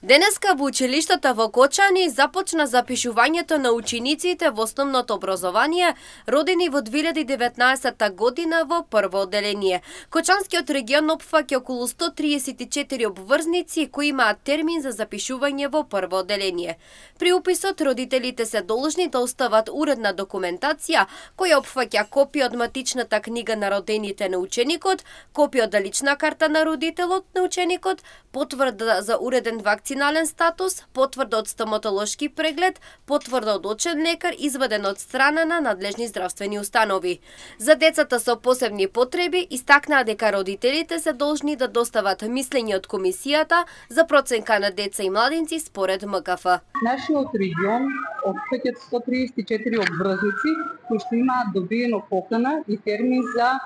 Денеска во училиштата во Кочани започна запишувањето на учениците во основното образование родени во 2019 година во прво одделение. Кочанскиот регион опфаќа околу 134 обврзници кои имаат термин за запишување во прво одделение. При уписот родителите се должни да остават уредна документација која опфаќа копија од матичната книга на родените на ученикот, копија од лична карта на родителот на ученикот, потврда за уреден вакцинален статус, потврда од стоматолошки преглед, потврда од очен лекар изваден од страна на надлежни здравствени установи. За децата со посебни потреби истакнаа дека родителите се должни да достават мислење од комисијата за проценка на деца и младинци според МКФ. Нашиот регион опфаќа 134 обврзници кои што имаат добиено покана и термин за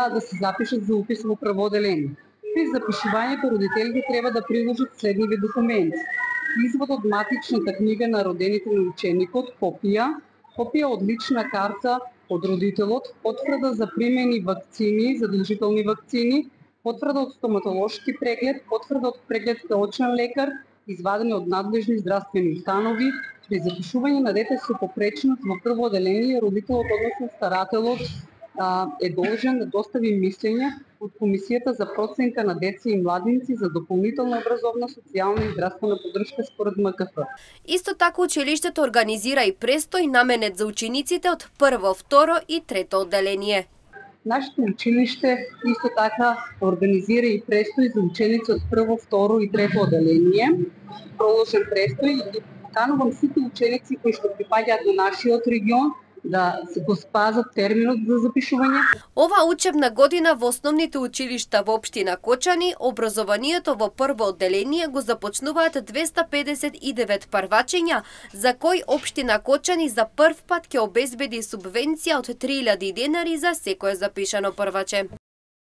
да се запишат за упис во прво одделение. При запишувањето родителите треба да приложат следниве документи: извод од матичната книга на родените на ученикот, копија од лична карта од родителот, потврда за примени вакцини, задолжителни вакцини, потврда од стоматолошки преглед, потврда од преглед кај очен лекар, извадени од надлежни здравствени установи. При запишување на дете со попреченост во прво одделение, родителот, односно старателот, е должен да достави мислење од комисијата за проценка на деца и младинци за дополнителна образовна, социјална и здравствена поддршка според МКФ. Исто така училиштето организира и престој наменет за учениците од прво, второ и трето одделение. Нашето училиште исто така организира и престој за ученици од прво, второ и трето одделение, проложен престој, и поканувам сите ученици кои што припаѓаат на нашиот регион да се го спазат терминот за запишување. Ова учебна година во основните училишта во општина Кочани, образованието во прво одделение го започнуваат 259 првачења, за кои општина Кочани за прв пат ќе обезбеди субвенција од 3000 денари за секое запишано прваче.